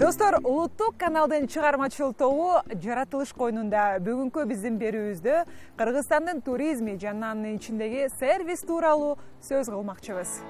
Достор, улуттук каналдын чыгармачыл тобу жаратылыш койнунда бүгүнкү биздин берүүбүздө Кыргызстандын туризми жана анын ичиндеги сервис тууралуу сөз кылмакчыбыз.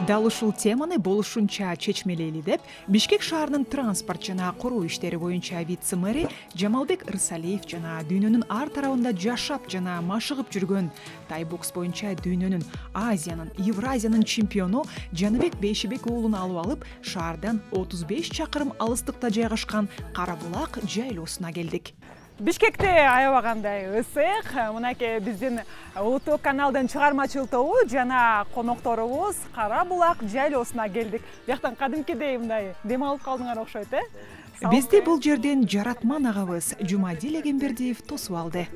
Дал ушул теманы болушунча чечмелейли деп Бишкек шаарынын транспорт жана куруу иштери боюнча вице-мэри Жамалбек Ырсалиев жана дүйнөнүн ар тарабында жашап жана машыгып жүргөн тай бокс боюнча дүйнөнүн, Азиянын, Евразиянын чемпиону Жаныбек Бейшибек уулун алып шаардан 35 чакырым алыстыкта жайгашкан Кара Булак жайлоосуна келдик. Бишкекте аябагандай ысык. Мынакей биздин улуттук каналдын чыгармачыл тобу жана конокторубуз Кара Булак жайлоосуна келдик. Бияктан кадимкидей мындай дем алып калдыңар окшойт, Бизди бул жерден жаратман агабыз Жумадил Эгембердиев тосуп алды.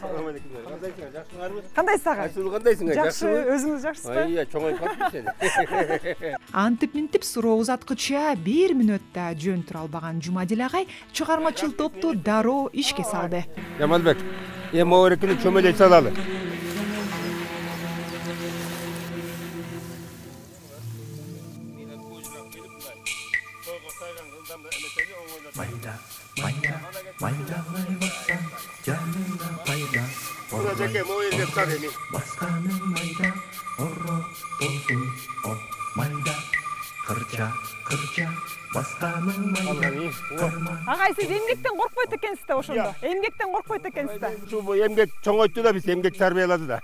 Салам алейкум. Кандайсыңар? Жакшыңарбы? Кандайсың? Айсул кандайсыңар? Жакшы, өзүңүз жакшысызбы? Ия, чоңоюп калдым. Антип-минтип суроо узаткыча 1 мүнөттө жөн тура албаган Жумадил агай чыгармачыл топту дароо ишке салды. Жамалбек, эми могерекини чөмөлөй салалы. Жаке могерге сал эми. Басканын майда орро болсун, майда кырча басканын майда. Агай, сиз эмгектен коркпойт экенсиз да ошондо. Эмгектен коркпойт экенсиз да. Ушул эмгек чоңойтtu да биз эмгек тарбиялады да.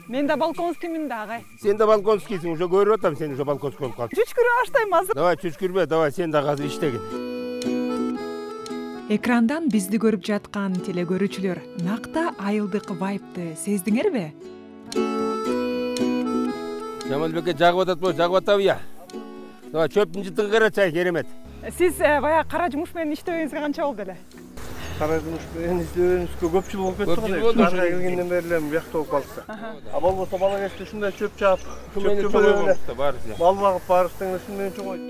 Мен да балконскиймин да, агай. Сен да балконскийсиң, уже көрүп атам, сен уже балконский болуп калдың. Чүчкүрө баштайм азыр. Давай, чүчкүрбө, давай, сен да азыр иштегин. Экрандан бизди көрүп жаткан телекөрүүчүлөр накта айылдык вайпты сездиңерби? Жамалбекке жагып атат, жагып атабы я. Давай, чөптүн жытыгы карачай, керемет. Сиз баягы кара жумуш менен иштебеңизге канча болду эле? Кара жумуш менен иштебеңизге көп жыл болуп кетти го. Шаарга келгенден бери эле буякта болуп калдык. Болбосо бала кезде ушундай чөп чаап, чөп менен бал багып барыштың ушун менен чоңойт.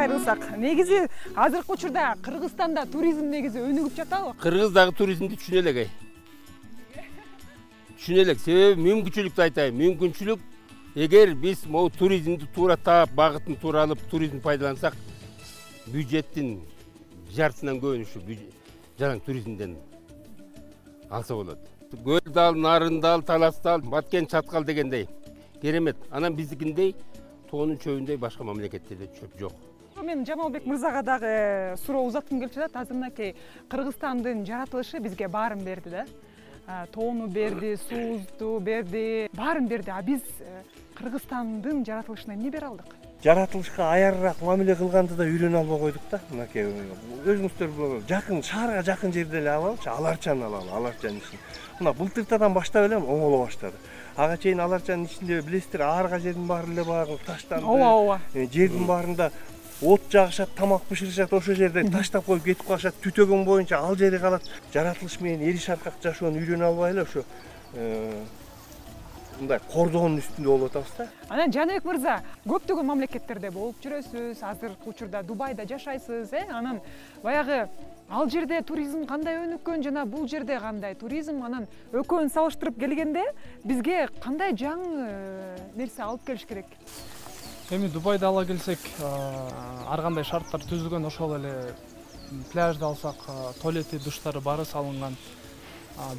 Кайрылсак, негизи азыркы учурда Кыргызстанда туризм негизи өнүгүп жатабы? Кыргыз дагы туризмди түшүнө элек. Түшүнө элек, себеби мүмкүнчүлүктү айтайын. Мүмкүнчүлүк эгер биз могу туризмди туура таап, багытын туура алып, туризмди пайдалансак, бюджеттин жартысынан көбүн ушу жаран туризмден алса болот. Көл-дал, Нарындал, Таластал, Баткен, Чаткал дегендей керемет. Анан биздикиндей тоонун чөбүндөй башка мамлекеттерде чөп жок. Мен Жамалбек мырзага дагы суроо узаткым келип жатат. Азыр мынакей Кыргызстандын жаратылышы бизге баарын берди да. Тоону берди, суузду берди, баарын берди. А биз Кыргызстандын жаратылышына эмне бере алдык? Жаратылышка аярыраак мамиле кылганды да үйрөнө албай койдук да. Мынакей өзүңүздөр жакын, шаарга жакын жерде эле алалычы, Аларчаны алалы, Аларчанын ишин. Мына былтыртадан баштап эле оңоло баштады. Ага чейин Аларчанын ичинде билесиздер, аарга жердин баары эле баягы таштанды. Ооба. Жердин баарында от жагышат, тамак бышырышат, ошол жерде таштап коюп кетип калышат, түтөгөн боюнча ал жери калат. Жаратылыш менен эри шаркак жашоону үйрөнө албай эле ошо мындай кордоонун үстүндө болуп атабыз да. Анан Жаныбек мырза, көптөгөн мамлекеттерде болуп жүрөсүз, азыркы учурда Дубайда жашайсыз, Анан баягы ал жерде туризм кандай өнүккөн жана бул жерде кандай туризм, анан экөөнүн салыштырып келгенде бизге кандай жаңы нерсе алып келиш керек? Эми Дубайды ала келсек, ар кандай шарттар түзүлгөн, ошол эле пляжды алсак, туалети, душтары баары салынган.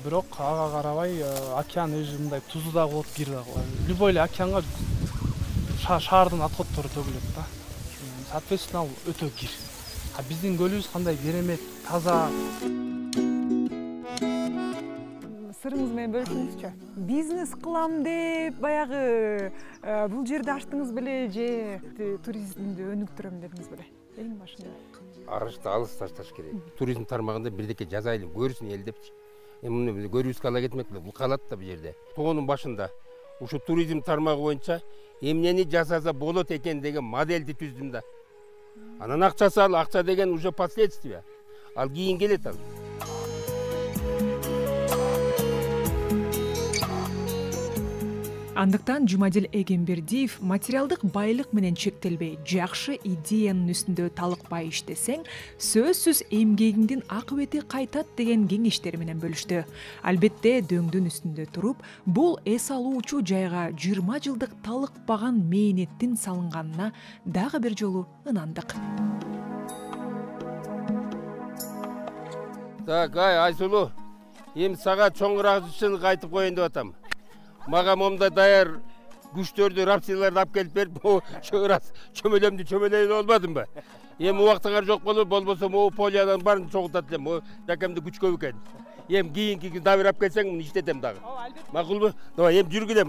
Бирок ага карабай океан мындай тузу да болот, кир да болот. Любой эле океанга шаардын отходдору төгүлөт да. Соответственно, ал өтө кир. А биздин көлүбүз кандай керемет, таза. Сырыңыз менен бөлүшүңүзчү. Бизнес кылам деп баягы бул жерди ачтыңыз беле же туризмди өнүктүрөм дедиңиз беле? Эң башында. Арышты алыс ташташ керек. Туризм тармагында бирдеке жазайлы, көрсүн эл депчи. Эми муну көрүүбүзгө ала кетмек эле, бул калат да бул жерде. Тоонун башында ушу туризм тармагы боюнча эмнени жасаса болот экен деген модельди түздүм да. Анан акчасы ал, акча деген уже последствия. Ал кийин келет ал. Андыктан Жумадил Эгембердиев материалдык байлык менен чектелбей, жакшы идеянын үстүндө талыкпай иштесең, сөзсүз эмгегиңдин акыбети кайтат деген кеңештери менен бөлүштү. Албетте дөңдүн үстүндө туруп, бул эс алуучу жайга 20 жылдык талыкпаган мээнеттин салынганына дагы бир жолу ынандык. Так, Айсулуу, эми сага чоңураакчыны кайтып коеюн деп атам. Мага момда даяр күчтөрдү, рапсиларды алып келип берип, ошо раз чөмөлөмдү чөмөлөйүн болбадым ба? Эми убактыңар жок болуп, болбосо могу полиянын баарын чогултат элем. Жакемде күч көп экен. Эми кийинки дабир алып келсең, муну иштетем дагы. Макулбу? Давай, эми жүргүлөм,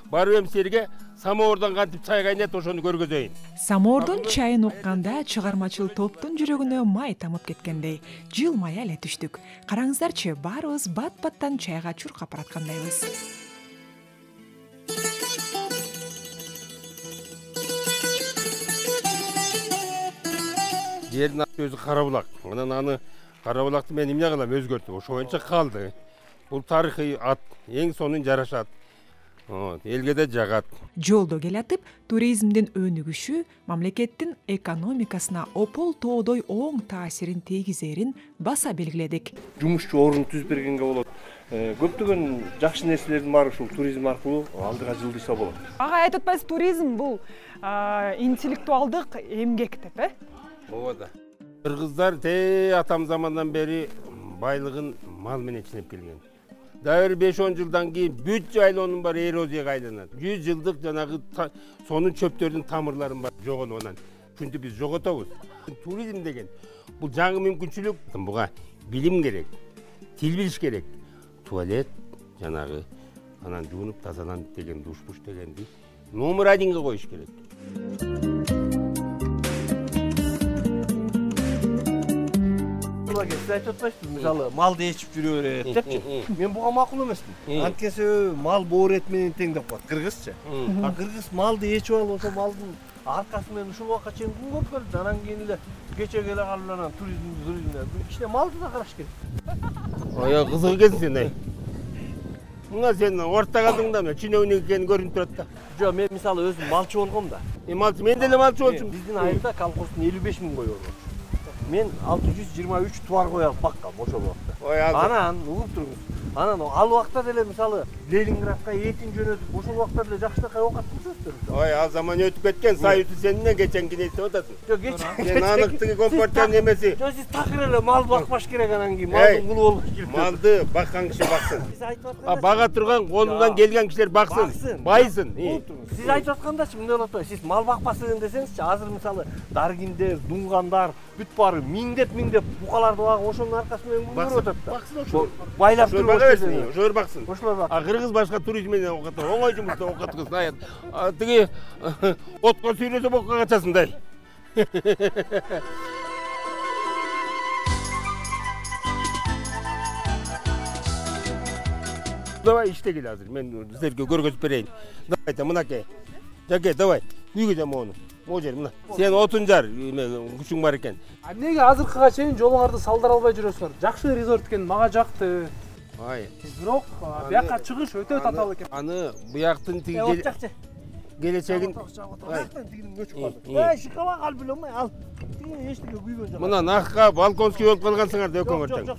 барып эми силерге самоордон кантип чай кайнайт, ошону көргөзөйүн. Самоордон чайын укканда чыгармачыл топтун жүрөгүнө май тамып кеткендей, жылмая эле түштүк. Караңыздарчы, баарыбыз бат-баттан чайга чуркап бараткандайбыз. Жердин өзү кара булак. Анан аны кара булакты мен эмне кылам, өзгөртүп, ошо боюнча калды. Бул тарыхый ат, эң сонун жарашат. Элге да жагат. Жолдо келатып, туризмдин өнүгүшү мамлекеттин экономикасына опол тоодой оң таасирин тийгизерин баса белгиледик. Жумушчу орун түзүп бергенге болот. Көптөгөн жакшы нерселердин баары ушул туризм аркылуу алдыга жылдырса болот. Ага айтып атпайсыз, туризм бул интеллектуалдык эмгек деп, Ооба да. Кыргыздар атам замандан бери байлыгын мал менен ченеп келген. Дагы 5-10 жылдан кийин бүт жайлоонун баары эрозияга айланат. 100 жылдык жанагы сонун чөптөрдүн тамырларын бар жогонуп анан күндү биз жоготобуз. Туризм деген бул жаңы мүмкүнчүлүк. Буга билим керек, тил билиш керек. Туалет жанагы анан жуунуп тазаланып деген душ-буш дегенди номер 1-ге коюш керек. Сиз айтып атпайсызбы, мисалы, малды ээчип жүрө берет депчи. Мен буга макул эмесмин. Анткени мал боор эт менен тең деп коет кыргызча. Кыргыз малды ээчип алып, ошо малдын аркасы менен ушул убакка чейин күн көрүп келди. Анан кийин эле кечеге эле калып анан туризмде ичине малды да караш керек. Кызык экенсиң сен. Мына сен орта калдың да, чиновник экени көрүнүп турат да. Жок, мен мисалы өзүм малчы болгом да. Малчы, мен деле малчы болчумун. Биздин айылда колхоздун 55 000 кою бар. Мен 623 туар кой алып баккам ошол убакта. Анан угуп туруңуз. Анан ал убакта деле мисалы Ленинградка этин жөнөтүп, ошол убакта деле жакшынакай оокат кылышыбыз. Ал заман өтүп кеткен, Союз сенинен кеченки нерсе атасың. Жок, кечен. Сен аныктыгы компартиянын эмеси. Жок, сиз такыр эле мал бакпаш керек анан кийин, малдын кулу болуш керек. Малды баккан киши баксын. Сиз айтып атканда. Бага турган колунан келген кишилер баксын, байсын. Сиз айтып аткандачы мындай болот атпайбы? Сиз мал бакпасың десеңизчи, азыр мисалы даргиндер, дунгандар бүт баары миңдеп букаларды багып, ошонун аркасы менен күн көрүп атат да. Баксын ошо. Байлап туруп ошолор баксын. Ошолор бак. Кыргыз башка туризм менен окутат. Оңой жумушта окуткызсын. Тиги отко сүйрөсө бокко качасыңдай. Давай иштегил азыр. Мен силерге көргөзүп берейин. Давай, мынакей. Жаке, давай. Үйгө мону. Могу жер мына. Сен отун жар, күчүң бар экен. Эмнеге азыркыга чейин жолуңарды салдыра албай жүрөсүңөр? Жакшы резорт экен, мага жакты. Бирок бияка чыгыш өтө татаал экен. Аны буяктын тиги келечегин шикала калып элем, ал тиги эчтеке күйгөн жок. Мына накка балконский болуп калгансыңар да экөөңөр тең.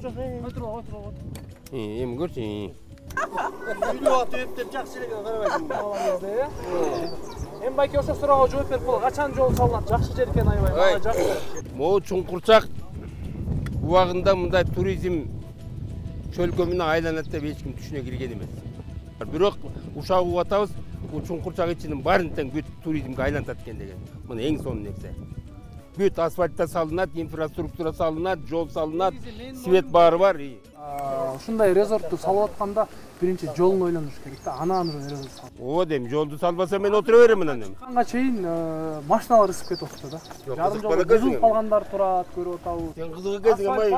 Отур. Эми көрчү. Үйдө атып деп жакшы эле карабайсың. Эми байке ошо суроого жооп берип бол. Качан жол салынат? Жакшы жер экен аябай. Мага жакшы. Могу чуңкурчак убагында мындай туризм чөлкө менен айланат деп эч ким түшүнө кирген эмес. Бирок ушак угуп атабыз, бул чуңкурчак ичинин баарын тең бүт туризмге айлантат экен деген. Мына эң сонун нерсе. Бүт асфальтта салынат, инфраструктура салынат, жол салынат, свет баары бар. Ушундай резортту салып атканда биринчи жолун ойлонуш керек да, анан резорт салып. Ооба дейм, жолду салбаса мен отура берем анан эми. Канга чейин машиналар ысып кетип атты да. Жарым жолдо кызып калгандар турат, көрүп атабыз. Сен кызык экенсиң, амай.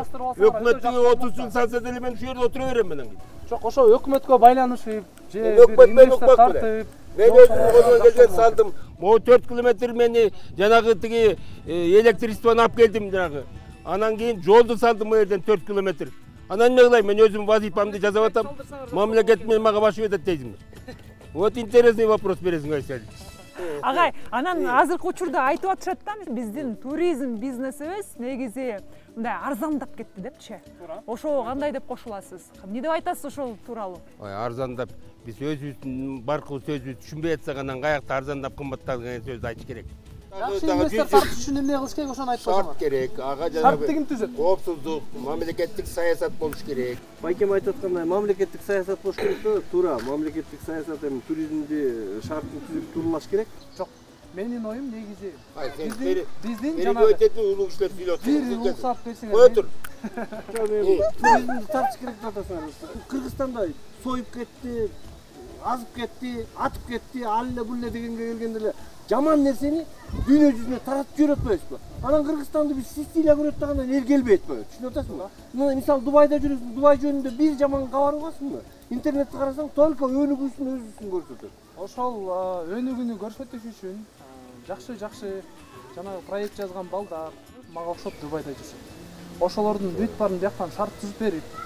Өкмөттүгү 30 жыл салса деле мен ушул жерде отура берем анан. Жок, ошо өкмөткө байланышып, же өкмөт тартып. Мен өзүм колуман келген салдым. Могу 4 километр мени жанагы тиги электричествону алып келдим жанагы. Анан кийин жолду салдым мына жерден 4 километр. Анан эмне кылайын, мен өзүм вазифамды жасап атам. Мамлекет менен мага башып этет дейсиңби? Вот интересный вопрос бересиң Айсел. Агай, анан азыркы учурда айтып атышат да, биздин туризм бизнесибиз негизи мындай арзандап кетти депчи. Ошого кандай деп кошуласыз? Эмне деп айтасыз ошол тууралуу? Ой, арзандап биз өзүбүздүн баркы сөзүбүздү түшүнбөй атсак анан каякта арзандап кымбаттады деген сөздү айтыш керек. Жакшы инвестор тартыш үчүн эмне кылыш керек, ошону айтып Шарт койсоңуз. керек, ага Шартты ким түзөт? коопсуздук, мамлекеттик саясат болуш керек. Байкем айтып аткандай мамлекеттик саясат болуш керек да, туура. Мамлекеттик саясат эми туризмди шартын түзүп турулаш керек. Жок. Менин оюм негизи биздин жанагы өтөтүн улуу кишилер сүйлөп бир уруксат берсеңер. Кой тур. Туризмди тартыш керек деп атасыңар. Кыргызстанда союп кетти, азып кетти, атып кетти, ал эле бул эле дегенге келгенде эле жаман нерсени дүйнө жүзүнө таратып жиберип атпайбызбы? Анан Кыргызстанды биз Сицилия көрөт дегенде эл келбей атпайбы? Түшүнүп атасыңбы? Мына мисалы Дубайда жүрөсүң, Дубай жөнүндө бир жаман кабар угасыңбы? Интернетте карасаң только өнүгүүсүн өзүсүн көрсөтөт. Ошол өнүгүүнү көрсөтүш үчүн жакшы жанагы проект жазган балдар мага окшоп Дубайда жүрсөт. Ошолордун бүт баарын бияктан шарт түзүп берип,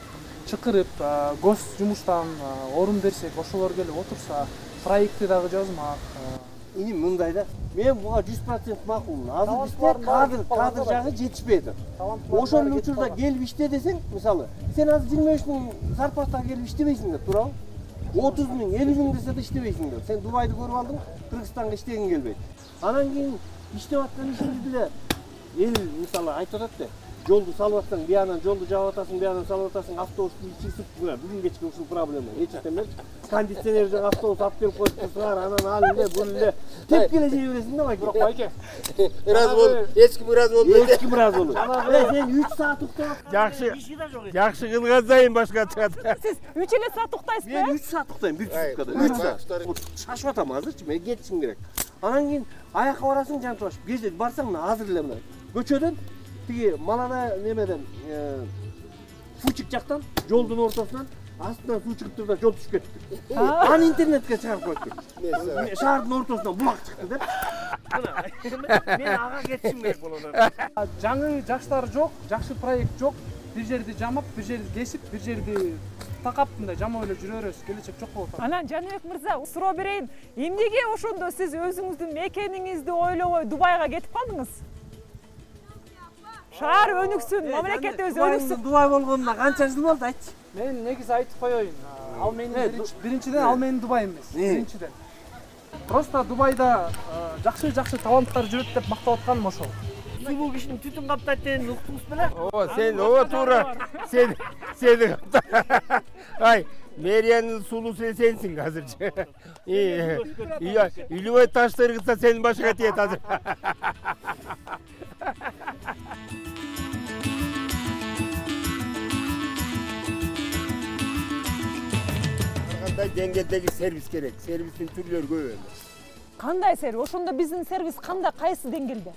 чакырып, гос жумуштан орун берсек, ошолор келип отурса, проектти дагы жазмак. Эми мындай да, мен буга 100% макулмун. Азыр бизде кадр жагы жетишпей атат. Ошол учурда келип иште десең, мисалы, сен азыр 25 миң зарплатага келип иштебейсиң деп туурабы? 30 миң, 50 миң десе да иштебейсиң деп. Сен Дубайды көрүп алдың, Кыргызстанга иштегиң келбейт. Анан кийин иштеп аткан ишиңди деле эл мисалы айтып атат да, жолду салып атсаң, биянан жолду жаап атасың, биянан салып атасың, автобусту ичип, бүгүн кечке ушул проблема. Эчтемер кондиционер жана автобус алып келип коюп турсаңар, анан ал эле бул эле тепкеле жей бересиң да, байке. Бирок байке. Ыраазы бол, эч ким ыраазы болбойт. Эч ким ыраазы болбойт. Сен 3 саат уктап, Жакшы кылган сайын башка чыгат. Сиз 3 саат уктайсызбы? мен 3 саат уктайм бир суткада. 3 саат. Шашып атам азырчы, мен кетишим керек. Анан кийин аякка барасың жантып ашып. Кече барсаң мына азыр эле мына көчөдөн тиги малана немеден фучик жактан жолдун ортосунан астынан суу чыгып турду да жол түшүп кетти. Аны интернетке чыгарып койдук. Шаардын ортосунан булак чыкты деп. Мен ага кетишим керек болот. Жаңы жаштар жок, жакшы проект жок. Бир жерди жамап, бир жерди кесип, бир жерди такап мындай жамап эле жүрө беребиз. Келечек жок болуп атат. Анан Жаныбек мырза, суроо берейин. Эмнеге ошондо сиз өзүңүздүн мекениңизди ойлобой Дубайга кетип калдыңыз? Шаар өнүксүн, мамлекетибиз өнүксүн. Дубай болгонуна канча жыл болду айтчы. Мен негизи айтып коеюн. Ал менин биринчиден ал менин Дубайым эмес. Биринчиден. Просто Дубайда жакшы таланттар жүрөт деп мактап атканым ошол. Сулуу кишини түтүн каптайт дегенди уктуңуз беле? Сен туура. Сени Ай, мэриянын сулуусу сенсиң азырчы. Илебой ташты ыргытса сенин башыңа тиет азыр. Кандай деңгээлдеги сервис керек? Сервистин түрлөрү көп. Кандай сервис? Ошондо биздин сервис кандай, кайсы деңгээлде?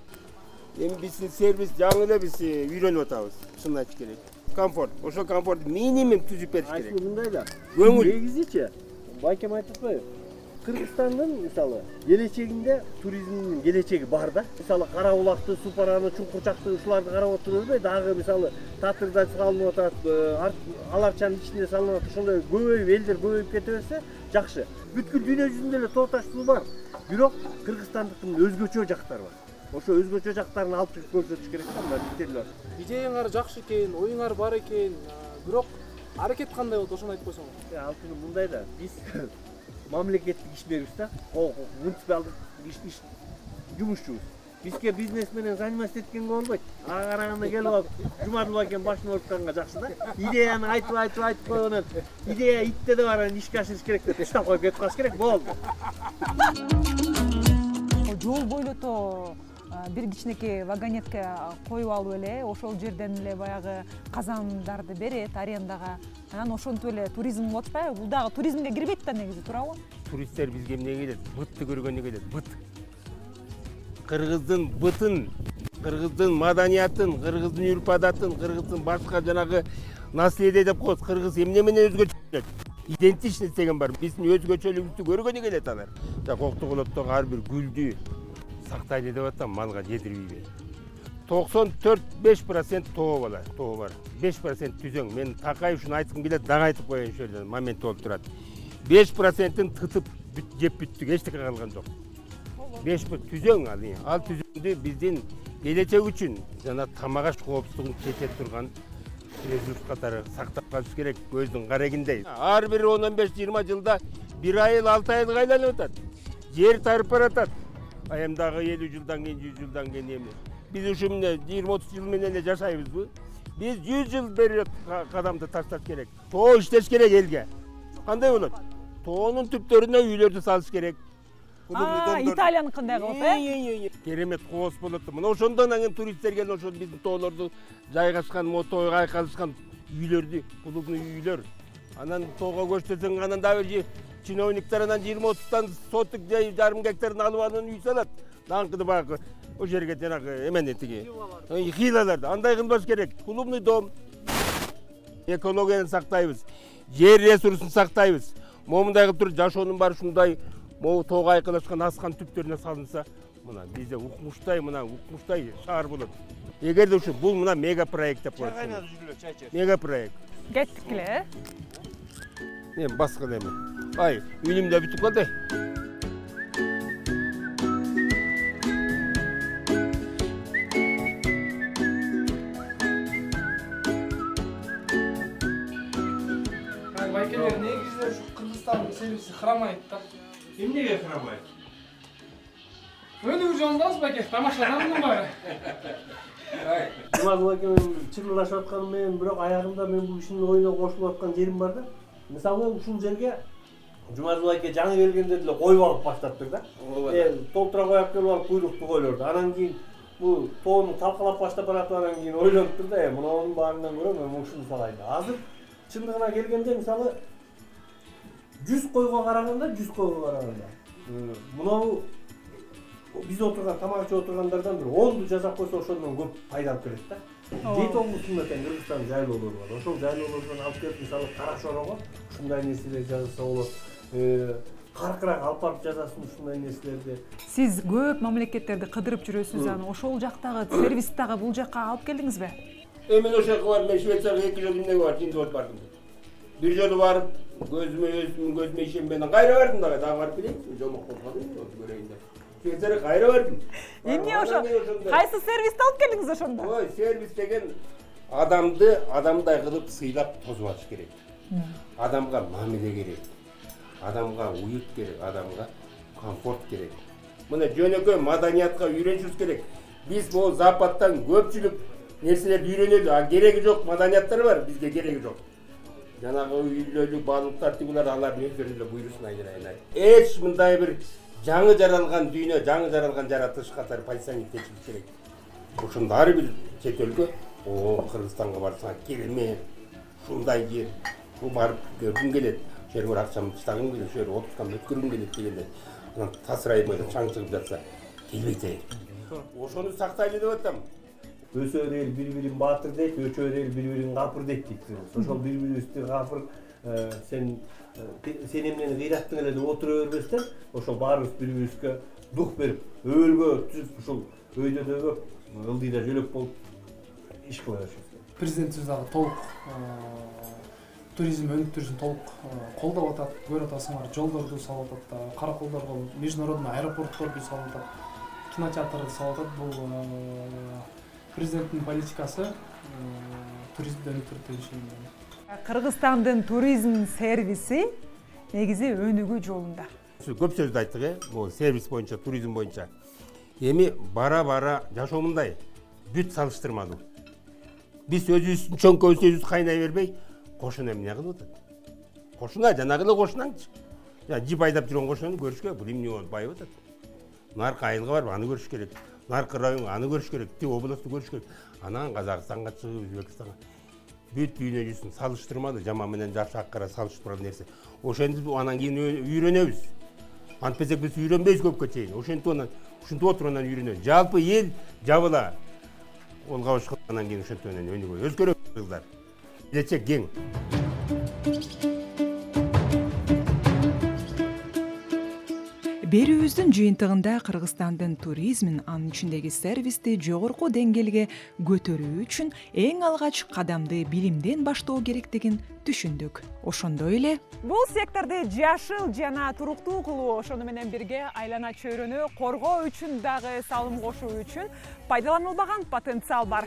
Эми биздин сервис жаңы эле биз үйрөнүп атабыз, чынын айтыш керек. Комфорт, ошол комфорт минимум түзүп бериш керек. Айсыл мындай да. Көңүл. Негизичи, байкем айтып атпайбы? Кыргызстандын мисалы келечегинде туризмдин келечеги бар да. Мисалы Карабулакты, Супараны, Чуңкурчакты ушуларды карап отурбайбы? Дагы мисалы Татырда салынып атат, Аларчанын ичинде салынып атат. Ошондой көбөйүп, элдер көбөйүп кете берсе жакшы. Бүткүл дүйнө жүзүндө эле тооташ суу бар. Бирок кыргызстандыктын өзгөчө жактары бар. Ошо өзгөчө жактарын алып чыгып көрсөтүш керек да, мына биттерлер. Идеяңар жакшы экен, оюңар бар экен, бирок аракет кандай болду, ошону айтып койсоңуз. Алтыны мындай да, биз мамлекеттик ишмербиз да, муниципалдык иш жумушчубуз. Бизге бизнес менен заниматься эткенге болбойт. Ага караганда келип алып, Жумадыл байкем башын орутканга жакшы да. Идеяны айтып койгонун, идея итте да бар, анан ишке ашырыш керек деп таштап коюп кетип калыш керек, болду. Жол бойлото бир кичинекей вагонетке коюп алып эле, ошол жерден эле баягы казандарды берет арендага. Анан ошентип эле туризм болуп атпайбы? Бул дагы туризмге кирбейт да негизи, туурабы? Туристтер бизге эмне келет? Бытты көргөнгө келет, быт. Кыргыздын бытын, кыргыздын маданиятын, кыргыздын үрп-адатын, кыргыздын башка жанагы наследие деп коет. Кыргыз эмне менен өзгөчө? Идентичность деген бар. Биздин өзгөчөлүгүбүздү көргөнү келет алар. Коктогулоттогу ар бир гүлдү сактайлы деп атам, малга жедирбейби. 94-5% тоо бар. 5% түзөң. Мен Такаев ушуну айткым келет, дагы айтып коеюн ошол жерден, момент болуп турат. 5%-ын тытып жеп бүттүк, эчтеке калган жок. 5 пут түзөң ал түзөңдү биздин келечек үчүн жана тамак аш коопсуздугун чече турган ресурс катары сактап калыш керек, көздүн карегиндей. Ар бир 15-20 жылда бир айыл 6 айылга айланып атат. Жер тарып баратат. Аямдагы 50 жылдан кийин, 100 жылдан кийин эми биз ушу эмне 20-30 жыл менен эле жашайбызбы? Биз 100 жыл берет кадамды ташташ керек. Тоо иштеш керек элге. Кандай болот? Тоонун түптөрүнө үйлөрдү салыш керек. Италиянын кандай кылып, Керемет коос болот. Мына ошондон анан туристтер келип ошо биздин тоолорду жайгашкан, тойго айкалышкан үйлөрдү, клубный үйлөр. Анан тоого көчтөсөң, анан дагы бир чиновниктер анан 20-30 сотук жарым гектарын алып анан үй салат. Даңкыды багы о жерге жанагы эмени тиги хилаларды андай кылбаш керек. Клубный дом. Экологияны сактайбыз. Жер ресурсун сактайбыз. Момундай кылып туруп жашоонун баары ушундай тоого айкалашкан аскан түптөрүнө салынса, мына бизде укмуштай шаар болот. Эгерде ушу бул мына мега проект деп коет. Мега проект. Кеттик эле. Мен баскы эми. Ай, үнүм да бүтүп калды. Байкелер негизинен ушу Кыргызстандын сервиси хырамайт да. Эмнеге хырамайт? Өнүгүү жолундабыз байке, тамашаданмын баары. Жумазул байке менен чыгылдашып атканым менен, бирок аягында мен бул кишинин оюна кошулуп аткан жерим бар да. Мисалы ушул жерге Жумазул байке жаңы келгенде деле коюп алып баштаптыр да. Толтура коюп келип алып куйрукту койлорду. Анан кийин бул тоону талкалап баштап баратып, анан кийин ойлонуптур да, мунунун баарынан көрө мен ушуну салайын. Азыр чындыгына келгенде мисалы 100 койго караганда мунау биз отурган тамак ичип отургандардан бир 10ду жасап койсо ошондон көп пайда алып келет да. Дейт облустунда тең Кыргызстан жайлоолору бар. Ошол жайлоолордон алып келип мисалы Кара Шорого ушундай нерселер жасаса болот. Каркырак алып барып жасасын ушундай нерселерди. Сиз көп мамлекеттерди кыдырып жүрөсүз, аны ошол жактагы сервисти дагы бул жакка алып келдиңиз бе? Мен ошол жака барып, мен Швецияга 2 жыл эмнеге барып, жинди болуп бардым. Бир жолу барып, көзүмө ишенбедим. Кайра бардым дагы барып келейин. Жомок болуп калдым, көрөйүн деп. Швецияга кайра бардым. Эмне ошо? Кайсы сервисти алып келдиңиз ошондо? Ой, сервис деген адамдай кылып сыйлап тосуп алыш керек. Адамга мамиле керек. Адамга уют керек, адамга комфорт керек. Мына жөнөкөй маданиятка үйрөнүшүбүз керек. Биз бул Западтан көпчүлүк нерселерди үйрөнөлү, а кереги жок маданияттар бар, бизге кереги жок. Жанагы үйлөлүк баалыктар тигилер алардын өздөрүнүн эле буйрусун айнай. Эч мындай бир жаңы жаралган дүйнө, жаңы жаралган жаратылыш катары позиционировать этилиш керек. Ошондо ар бир чет өлкө, Кыргызстанга барсаң керемет, ушундай жер, барып көргүм келет. Жерге бір ақшамды тастағым келеді, шер отпускамды өткөргүм келет дегенде, анан тасырайбай чаң чыгып жатса, келбейт. Ошону сактайлы деп атам. Өсөр эл бири-бирин баатыр дейт, өчөр эл бири-бирин капыр дейт. Ошол бири-бирибизди капыр сен эмнени кыйраттың эле деп отура бербестен, ошол баарыбыз бири-бирибизге дух берип, өбөлгө түзүп, ушул өйдөдөгү ылдыйда жөлөк болуп иш кыла беришибиз керек. Президентибиз дагы толук туризм өнүктүрүшүн толук колдоп атат, көрүп атасыңар, жолдорду салып атат, караколдорго международный аэропортторду салып атат, кинотеатрды салып атат. Бул президенттин политикасы туризмди өнүктүрүп деп ишенем. Кыргызстандын туризм сервиси негизи өнүгүү жолунда. Көп сөздү айттык, бул сервис боюнча, туризм боюнча. Эми бара-бара жашоо мындай, бүт салыштырмалуу. Биз өзүбүздүн чоңкөбүздү кайнай бербей, кошуна эмне кылып атат? Кошуна жанагы эле кошунаңчы. Жип айдап жүргөн кошунаны көрүш керек, бул эмне болуп байып атат. Наркы айылга барып аны көрүш керек. Наркы районго аны көрүш керек, тиги областты көрүш керек. Анан Казакстанга чыгып, Өзбекстанга бүт дүйнө жүзүн салыштырмалуу, жаман менен жакшы аккара салыштырмалуу нерсе. Ошентип анан кийин үйрөнөбүз. Антпесек биз үйрөнбөйбүз көпкө чейин. Ошентип отуруп анан үйрөнөбүз. Жалпы эл жабыла. Колго башка анан кийин ошентип анан өнүгөбүз. Өзгөрөбүз кыздар. Келечек кең. Берүүбүздүн жыйынтыгында Кыргызстандын туризмин, анын ичиндеги сервисти жогорку деңгээлге көтөрүү үчүн эң алгач кадамды билимден баштоо керектигин түшүндүк. Ошондой эле бул секторду жашыл жана туруктуу кылуу, ошону менен бирге айлана чөйрөнү коргоо үчүн дагы салым кошуу үчүн пайдаланылбаган потенциал бар.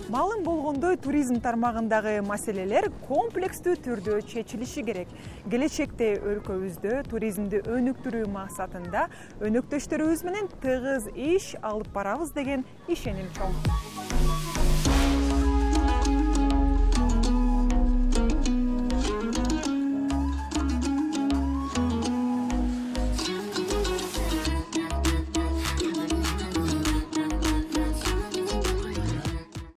Малым болгондой туризм тармагындагы маселелер комплекстүү түрдө чечилиши керек. Келечекте өлкөбүздө туризмди өнүктүрүү максатында өнөктөштөрүбүз менен тыгыз иш алып барабыз деген ишеним чоң.